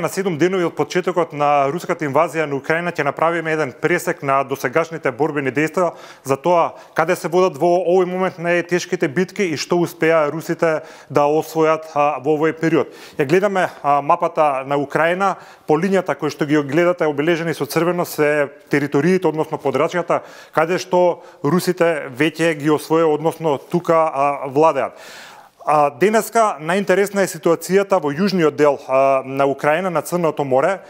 На 7 денови од почетокот на руската инвазија на Украина ќе направиме еден пресек на досегашните борбени дејства за тоа каде се водат во овој момент најтешките битки и што успеа русите да освојат во овој период. Ја гледаме мапата на Украина, по линијата кој што ги гледате обележени со црвено се териториите, односно подрачјата, каде што русите веќе ги освоја, односно тука владеат. Денеска најинтересна е ситуацијата во јужниот дел на Украина, на Црното море.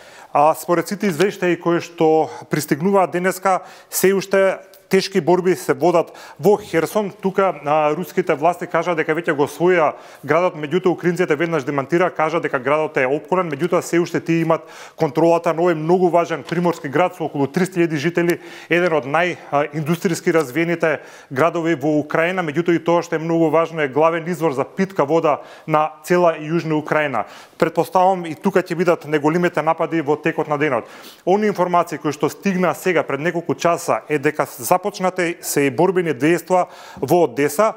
Според сите извештаи кои што пристигнуваат денеска, се уште тешки борби се водат во Херсон. Тука руските власти кажа дека веќе го освоија градот, меѓутоа украинците веднаш демантира, кажа дека градот е опколен, меѓутоа се уште тие имат контролата на овој многу важен приморски град со околу 300.000 жители, еден од најиндустријски развиените градови во Украина, меѓутоа и тоа што е многу важно е главен извор за питка вода на цела јужна Украина. Претпоставувам и тука ќе бидат неголемите напади во текот на денот. Они информации кои што стигна сега пред неколку часа е дека започнате се и борбени дејства во Одеса.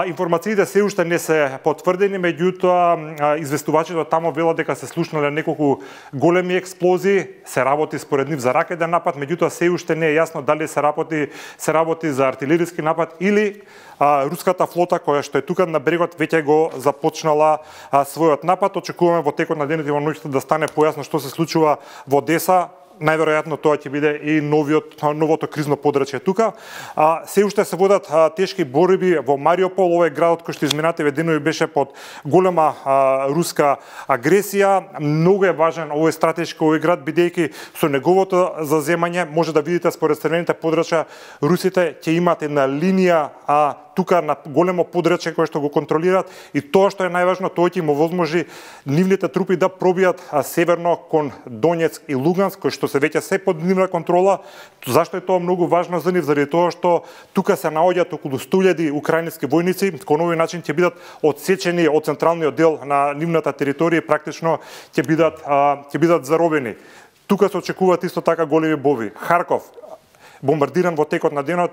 Информациите се уште не се потврдени, меѓутоа известувачите тамо велат дека се слушнале неколку големи експлозии, се работи според нив за ракетен напад, меѓутоа се уште не е јасно дали се работи за артилериски напад или руската флота која што е тука на брегот веќе го започнала својот напад. Очекуваме во текот на денот и во ноќта да стане појасно што се случува во Одеса. Најверојатно тоа ќе биде и новото кризно подрачје тука. Се уште се водат тешки борби во Мариупол, овој градот кој што изминативе денови беше под голема руска агресија. Многу е важен овој стратешки град, бидејќи со неговото заземање може да видите според црвените подрачја русите ќе имат една линија тука на големо подрачје кое што го контролираат и тоа што е најважно, тоа ќе им овозможи нивните трупи да пробијат северно кон Донецк и Луганск, кои што се веќе се под нивна контрола. Зашто е тоа многу важно за нив? Заради тоа што тука се наоѓаат околу 100.000 украински војници, кон овој начин ќе бидат одсечени од централниот дел на нивната територија и практично ќе бидат заробени. Тука се очекуваат исто така големи борби. Харков бомбардиран во текот на денот,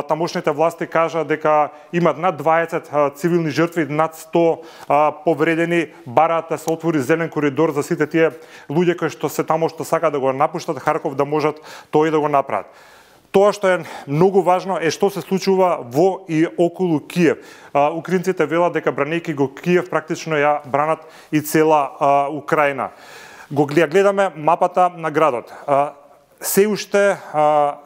тамошните власти кажа дека имат над 20 цивилни жртви, над 100 повредени, бараат да се отвори зелен коридор за сите тие луѓе кои што се тамо што сака да го напуштат Харков да можат тоа и да го направат. Тоа што е многу важно е што се случува во и околу Киев. Украинците велат дека бранејќи го Киев практично ја бранат и цела Украина. Го гледаме мапата на градот. Се уште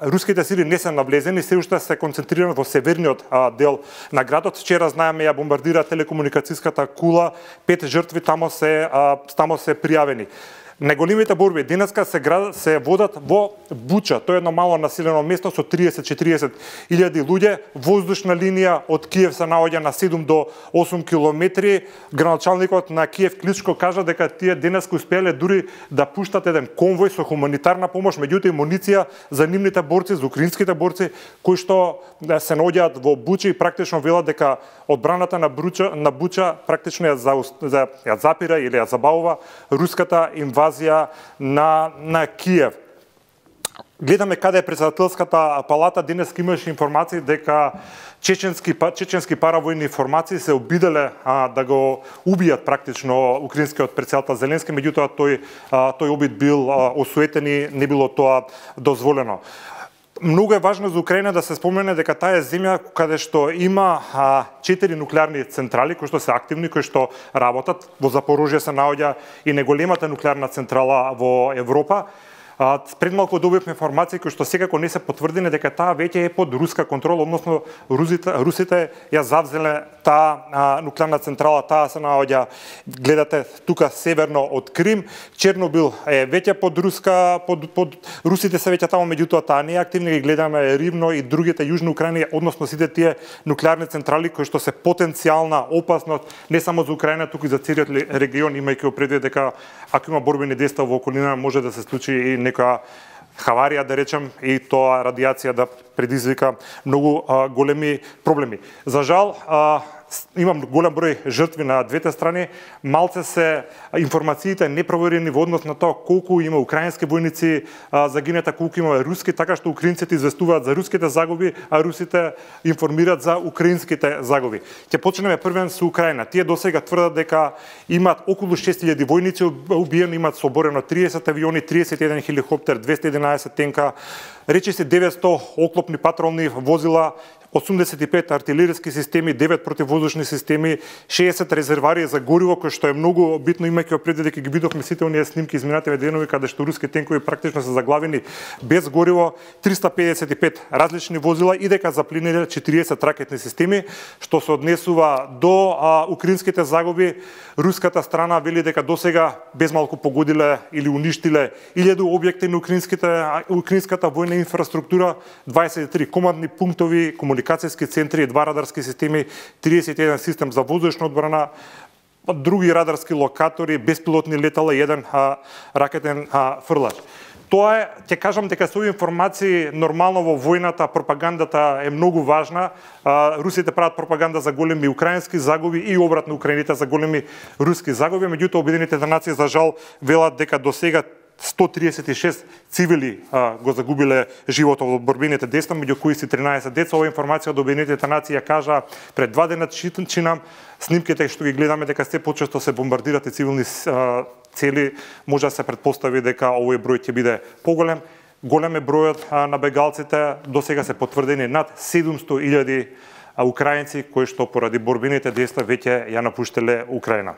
руските сили не се навлезени, се уште се концентрирани во северниот дел на градот. Вчера знаеме ја бомбардира телекомуникацијската кула, 5 жртви тамо се пријавени. Најголемите борби денеска се водат во Буча. Тоа е едно мало населено место со 30-40 илјади луѓе. Воздушна линија од Киев се наоѓа на 7 до 8 километри. Граначалникот на Киев Кличко кажа дека тие денеска успеале дури да пуштат еден конвој со хуманитарна помош, меѓутоа и муниција за нивните борци, за украинските борци кои што се наоѓаат во Буча и практично велат дека одбраната на Буча практично ја запира или ја забавува руската инвазија на Киев. Гледаме каде е председателската палата. Денес имаше информации дека чеченски паравојни формации се обиделе да го убијат практично украинскиот председател Зеленски, меѓутоа тој обид бил осуетен и не било тоа дозволено. Многу е важно за Украина да се спомене дека таа е земја каде што има 4 нуклеарни централи кои што се активни, кои што работат. Во Запорожје се наоѓа и најголемата нуклеарна централа во Европа. Пред малку добивме информации кои што секако не се потврдени дека таа веќе е под руска контрола, односно русите ја завзеле таа нуклеарна централа, таа се наоѓа, гледате тука северно од Крим. Чернобил е веќе под русите се веќе таму, меѓутоа таа не е активна, ги гледаме Ривно и другите јужни Украина, односно сите тие нуклеарни централи кои што се потенцијална опасност не само за Украина, туку и за целиот регион, имајќи предвид дека ако има борбени дејства во околина може да се случи и некоја хаварија, да речем, и тоа радијација да предизвика многу големи проблеми. За жал, имам голем број жртви на двете страни, малце се информациите непроверени во однос на тоа колку има украински војници загинета, колку има руски, така што украинците известуваат за руските загуби, а русите информираат за украинските загуби. Ќе почнеме првен со Украина. Тие досега тврдат дека имаат околу 6000 војници убиени, имаат соборено 30 авиони, 31 хеликоптер, 211 тенка, речиси 900 оклопни патролни возила, 85 артилериски системи, 9 противвоздушни системи, 60 резервари за гориво, кој што е многу битно, имајќи предвид дека ги видовме сите оние снимки изминативе денови каде што руски тенкови практично се заглавени без гориво, 355 различни возила и дека заплениле 40 ракетни системи, што се однесува до украинските загуби. Руската страна вели дека досега безмалку погодиле или уништиле 1000 објекти на украинската војна инфраструктура, 23 командни пунктови, комуникацијски центри, 2 радарски системи, 31 систем за воздушна одбрана, други радарски локатори, беспилотни летала и 1 ракетен фрлач. Тоа е, ќе кажам дека со овие информации нормално во војната пропагандата е многу важна. Русите прават пропаганда за големи украински загуби и обратно украините за големи руски загуби, меѓутоа Обединетите нации за жал велат дека досега 136 цивили го загубиле животот во борбените дејства, меѓу кои се 13 деца. Ова информација од Обединетите нации ја кажа пред 2 дена, чинам снимките што ги гледаме дека се почесто се бомбардират и цивилни цели, може да се предпостави дека овој број ќе биде поголем. Голем е бројот на бегалците, досега се потврдени над 700.000 украинци кои што поради борбените дејства веќе ја напуштиле Украина.